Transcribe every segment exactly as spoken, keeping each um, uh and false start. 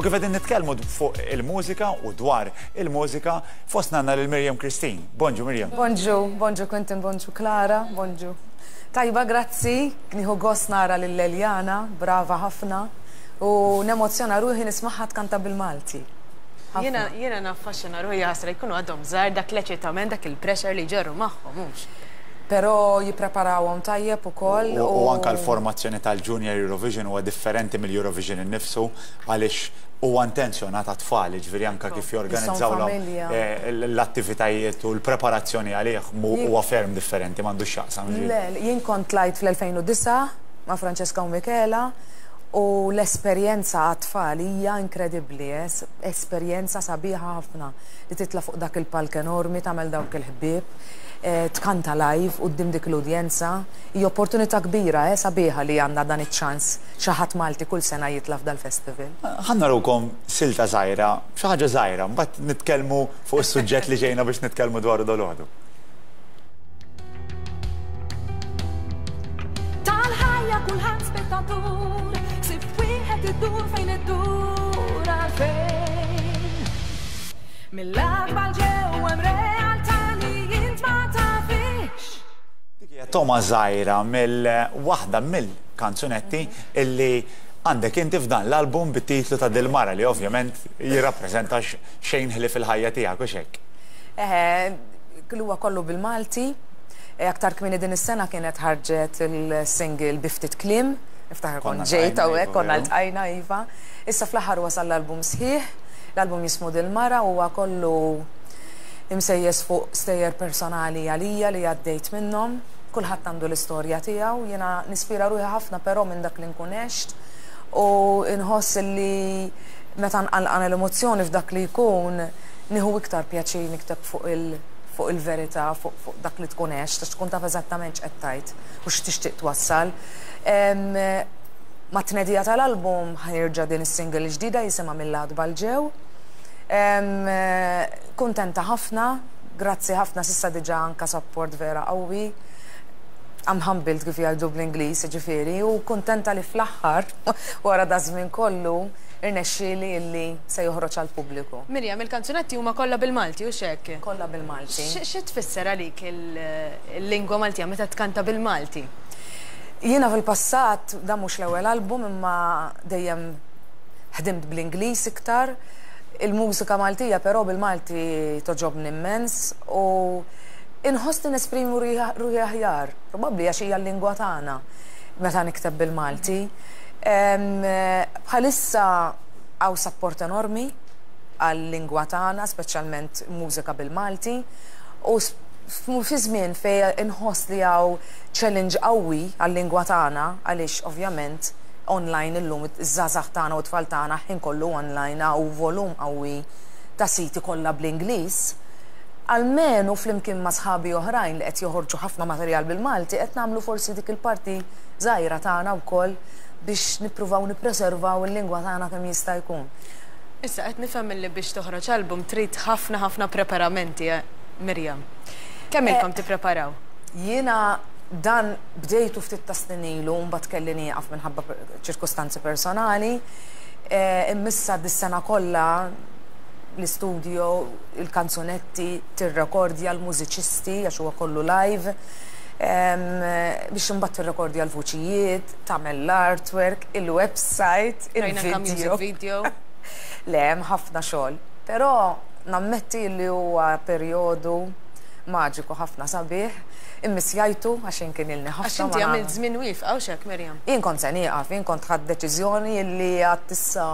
U kif qegħdin nitkellmu fuq il-mużika u dwar il-mużika, fostna għandna lil Miriam Christine. Bonġu, Miriam. Bonġu, bonġu Quentin, bonġu Clara, bonġu. Tajba, grazzi, nieħu gost nara lil Eliana, brava ħafna, u nemozzjona ruħi nismagħha tkanta bil-Malti. Jiena jiena naffaxxina ruħi, ħasra jkunu għadhom żgħar, dak l-eċitament, dak il-pressure li ġorru magħhom, mhux. Però jippreparawhom tajjeb ukoll. U anka l-formazzjoni tal-Junior Eurovision huwa differenti mill-Eurovision innifsu, għaliex huwa intenzjonat għat-tfal, ġifieri anka kif jorganizzaw eh, l-attivitajiet u l-preparazzjoni għalih huwa ferm differenti, m'għandux x'jaqsam. Le, jien kont tlajt fl-elfejn u disgħa ma' Francesca u Michela u l-esperjenza għat-tfal hija inkredibbli, eh? Esperjenza sabiħa ħafna li titla' fuq dak il-palk enormi, tagħmel dawk il-ħbieb, eh, tkanta live quddiem dik l-udjenza. Hija opportunità kbira, eh, sabiħa li għandna dan iċ-ċans xi ħadd Malti kull sena jitla' f'dal-festival. Ħa narukom silta żgħira, xi ħaġa żgħira, mbagħad nitkellmu fuq is-suġġett li ġejna biex nitkellmu dwaru dalgħodu. Tal-ħajja kulħadd spettatur, sibt wieħed iddur fejn iddur għalfejn. Mill-akbar ġew hemm realtà li int ma tafix. Dik hija toma żgħira mill waħda mill-kanzunetti illi għandek inti f'dan l-album bit-titlu ta' Dil-Mara, li ovvjament jirrappreżenta xejn ħlief fil-ħajja tiegħek u xek. Eħe, huwa kollu bil-Malti. Aktar kmieni din is-sena kienet ħarġet il-single bi ftit kliem, niftakar kont ġejt hawnhekk, konna ltqajna, iva. Issa fl-aħħar wasal l-album sħiħ, l-album jismu Dil-Mara, huwa kollu imsejjes fuq stejjer personali għalija li għaddejt minnhom. Kulħadd għandu l-istorja tiegħu, jiena nispira ruħi ħafna però minn dak li nkun għext u nħoss li meta nqalqan l-emozzjoni f'dak li jkun nieħu iktar pjaċir nikteb fuq il- fuq il-verità, fuq, fuq dak li tkun għext, għax tkun taf eżattament x'qed tgħid u x'tixtieq twassal. Ma' tnedija tal-album ħajrġa' din is-single ġdida jisimha Mill-Għatba 'l Ġew. Kuntenta ħafna, grazzi ħafna, s'issa diġà anka support vera qawwi. I'm humbled kif jgħidu bl-Ingliż, ġifieri, u kuntenta li fl-aħħar wara da żmien kollu irnexxieli illi se joħroġ għall-pubbliku. Miriam, il-kanzunetti huma kollha bil-Malti u x'hekk? Kollha bil-Malti. Xi tfisser għalik il-lingwa Maltija meta tkanta bil-Malti? Jiena fil-passat, dan mhux l-ewwel album, imma dejjem ħdimt bl-Ingliż iktar. Il-mużika Maltija però bil-Malti toġobni immens u inħossni nesprimi ruħi aħjar, probabbli għax hija l-lingwa tagħna meta nikteb bil-Malti. Bħalissa hawn support enormi għal-lingwa tagħna, speċjalment mużika bil-Malti, u fi żmien fejn inħoss li hawn challenge qawwi għal-lingwa tagħna, għaliex ovvjament online illum iż-żgħażagħ tagħna u t-tfal tagħna ħin kollu online hawn volum qawwi ta' siti kollha bl-Ingliż. Almenu flimkien ma' sħabi oħrajn li qed joħorġu ħafna materjal bil-Malti, qed nagħmlu forsi dik il-parti żgħira tagħna wkoll biex nippruvaw nippreservaw il-lingwa tagħna kemm jista' jkun. Issa qed nifhem li biex toħroġ album trid ħafna ħafna preparamenti, Miriam. Kemm ilkom tippreparaw? Jiena dan bdejtu ftit ta' snin ilu, mbagħad kelli nieqaf minħabba ċirkustanzi personali. Immissa dis-sena kollha l-istudio, il-kanzunetti, tirrekordja l-mużiċisti għax huwa kollu live, biex imbagħad tirrekordja l-vuċijiet, tagħmel l-artwork, il-website, il-video. Video. Le, hemm ħafna xogħol. Però nammetti li huwa perjodu maġiku ħafna sabiħ, immissjajtu għax kien ilni ħafna. Għax inti għamilt żmien wieqfa hawn x'hekk, Miriam? Jien kont se nieqaf, jien kont ħadt deċiżjoni li għad issa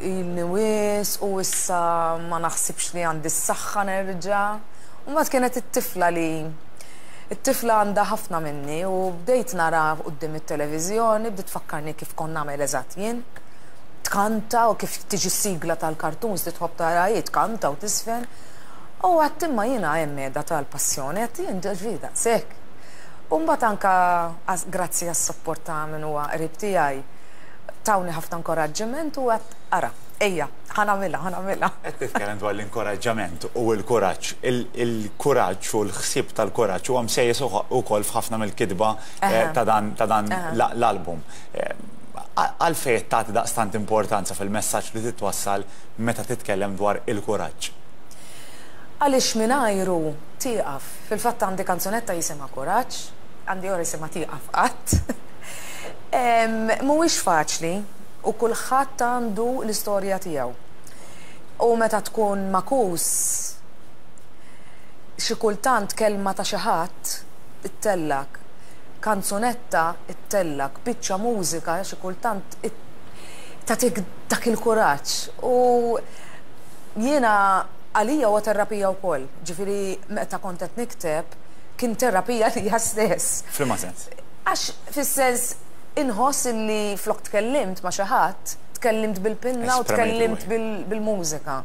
ilni wisq u issa ma naħsibx li għandi s-saħħa nerġa'. U mbagħad kienet it-tifla li it-tifla għandha ħafna minni u bdejt nara quddiem it-televiżjoni, bdiet tfakkarni kif kont nagħmel eżatt jien. Tkanta u kif tiġi s-sigla tal-kartuns li tħobb tara hi, tkanta u tisfen. U għedt imma jiena hemm qiegħda tal-passjoni, għedt jien ġifieri daqshekk. U mbagħad anka grazzi għas-support ta' min huwa qrib tiegħi tawni ħafna inkoraġġiment u għedt ara, ejja, ħa nagħmilha, ħa nagħmilha. Qed titkellem dwar l-inkoraġġament u l-kuraġġ. Il-kuraġġ u l-ħsieb tal-kuraġġ huwa msejjes ukoll f'ħafna mill-kitba ta' dan l-album. Għalfejn tagħti daqstant importanza fil-messaġġ li titwassal meta titkellem dwar il-kuraġġ? Għaliex mingħajru tieqaf. Fil-fatt għandi kanzunetta jisimha Kuraġġ, għandi oħra jisimha Tieqaf Qatt. Mhuwiex faċli u kulħadd għandu l-istorja tiegħu. U meta tkun makus, xi kultant kelma ta' xi ħadd ittellak, kanzunetta ittellak, biċċa mużika xi kultant tagħtik dak il-kuraġġ. U jiena għalija huwa terapija wkoll. Ġifieri meta kont qed nikteb kien terapija lija stess. F'liema sens? Għax fis-sens inħoss illi flok tkellimt ma' xi ħadd, tkellimt bil-pinna u tkellimt bil-mużika.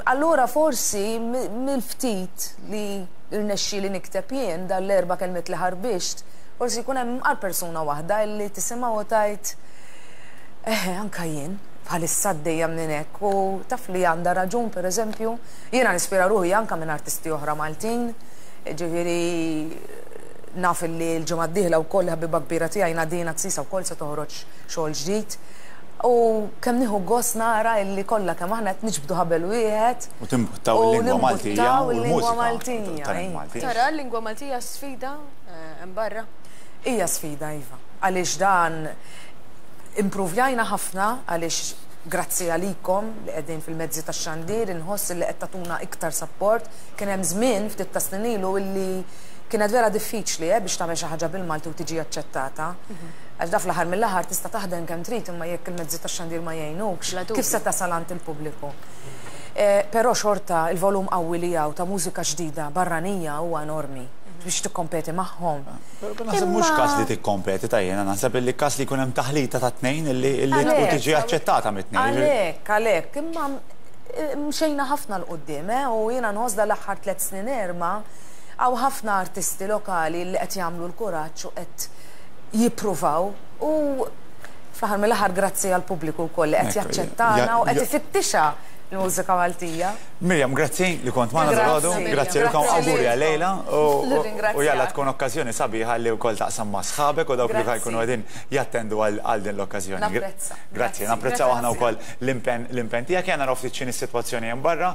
Allura forsi mill-ftit li rnexxieli nikteb jien dal-erba' kelmiet li ħarbixt, forsi jkun hemm għal persuna waħda illi tisimgħu u tgħid eh anka jien bħalissa għaddejja minn hekk u taf li għandha raġun. Pereżempju, jiena nispira ruħi anka minn artisti oħra Maltin, ġifieri naf li l-ġimgħa d-dieħla wkoll ħabiba kbira tiegħi Nadina Tsisa wkoll se toħroġ xogħol ġdid. U kemm nieħu gost nara illi kollha kemm aħna qed niġbdu ħabel wieħed. U timbuttaw il-lingwa Maltija u l-lingwa Maltija. Tara l-lingwa Maltija sfida hemm barra? Hija sfida, iva. Għaliex dan impruvjajna ħafna, għaliex grazzi għalikom li qegħdin fil-mezzi tax-xandir inħoss li qed tagħtuna iktar support. Kien hemm żmien ftit ta' snin ilu illi kienet vera diffiċli biex tagħmel xi ħaġa bil-Malti u tiġi aċċettata. Għax da fl-aħħar mill-aħħar tista' taħdem kemm trid imma jekk il-mezzi tax-xandir ma jgħinukx, kif se tasal għand il-pubbliku? Però xorta il-volum qawwi li hawn ta' mużika ġdida barranija huwa enormi biex tikkompeti magħhom. Naħseb mhux każ li tikkompeti ta' jiena, naħseb li każ li jkun hemm taħlita ta' tnejn illi tiġi aċċettata mit-tnejn. Għalhekk, għalhekk, imma mxejna ħafna 'l quddiem u jiena nħoss dal-aħħar tliet snin erba' hawn ħafna artisti lokali li qed jagħmlu l-kuraġġ u qed jippruvaw u fl-aħħar mill-aħħar grazzi għall-pubbliku wkoll li qed jaċċettana u qed ifittixha l-mużika Maltija. Miriam, grazzi li kont magħna dalgħodu, grazzi lilkom, awguri għal-lejla u jalla tkun okkażjoni sabiħa li wkoll taqsam ma' sħabek u dawk li jkunu qegħdin jattendu għal din l-okkażjoni. Grazzi, napprezzaw aħna wkoll l-impenn tiegħek. Jien naraw ftit x'inhi s-sitwazzjoni hemm barra.